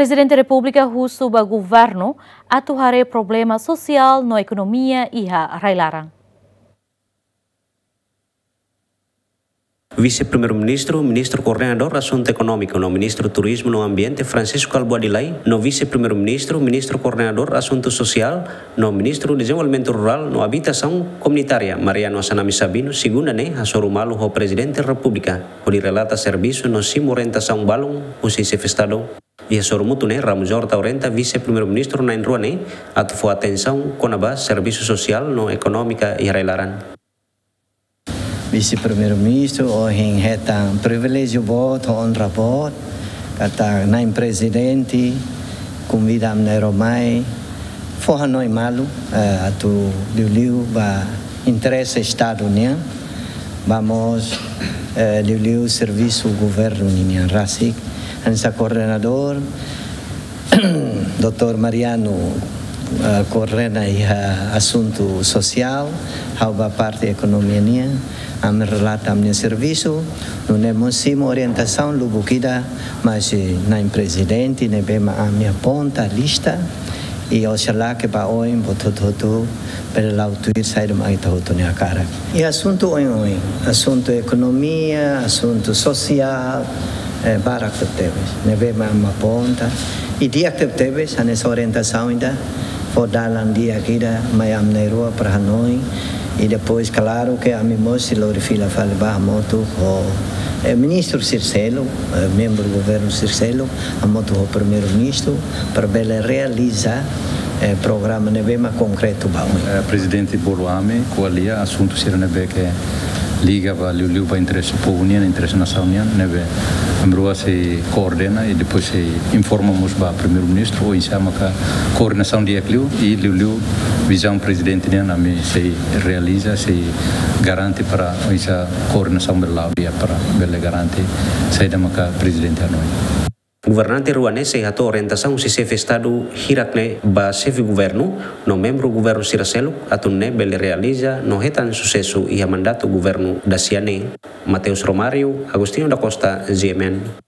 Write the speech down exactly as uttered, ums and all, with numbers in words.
Prezidente Repúblika husu ba governu atu haree problema sosiál no ekonomia iha rai-laran. Vise-Primeiru-Ministru, Ministru Koordenadór Asuntu Ekonómiku no Ministru Turizmu no Ambiente, Francisco Kalbuadi Lay, no Vise-Primeiru-Ministru, Ministru Koordenadór Asuntu Sosiál no Ministru Dezenvolvimentu Rurál no Abitasaun Komunitária, Mariano Assanami Sabino, segunda ne'e hasoru malu ho Prezidente Repúblika hodi relata servisu no simu orientasaun balun husi Xefe Estadu. Iha hasoru mútuu ne'e, Ramos Horta orienta Vise-Primeiru-Ministru na'in-rua ne'e atu fó atensaun kona-ba servisu sosiál no ekonómika iha rai-laran. Vise-Primeiru-Ministru ohin hetan priviléjiu boot, onra boot, katak Na'in Prezidente konvida ami na'in-rua mai fó hanoin malu, eh, atu liuliu ba interese Estadu nian, ba mós, eh, liuliu servisu governu nian rasik. Hanesan koordenadór, Doutór Mariano, eh, koordena iha asuntu sosiál, ha'u ba parte ekonomia nian, ami relata ami-nia servisu, nune'e mós simu orientasaun lubuk ida, mas, eh, Na'in Prezidente ne'ebé mak ami aponta lista, i oxalá ke ba oin buat hotu-hotu bele la'o tuir saida mak ita hotu nia hakarak. I asuntu oin-oin, asuntu ekonomia, asuntu sosiál, eh, barak tebetebes. Ne'ebé mak ami aponta. I di'ak tebetebes, hanesan orientasaun ida, fó dalan di'ak ida mai ami na'in-rua para hanoin. I depois, klaru ke ami mós sei lori fila fali ba hamutuk ho, eh, ministru sira seluk, eh, membru governu sira seluk, hamutuk ho Primeiru-Ministru, para bele realiza, eh, programa ne'ebé mak konkretu ba oin. Eh, Prezidente bolu ami ko'alia asuntu sira ne'ebé ke liga ba liuliu ba interese povu nian, interese nasaun nian, ne'ebé ami rua sei koordena i depois sei informa mós ba Primeiru-Ministru oinsá maka koordenasaun di'ak liu i liuliu vizaun Prezidente nian ami sei realiza, sei garante para oinsá koordenasaun bele la'o di'ak para bele garante saida maka Prezidente hanoin. Governante rua ne'e sei hato'o orientasaun husi Xefe Estadu hirak ne'e ba Xefe Governu no membru governu sira seluk atu nune'e bele realiza no hetan susesu iha mandatu governu dasia ne'e. Mateus Romário, Agostinho da Costa, G M N.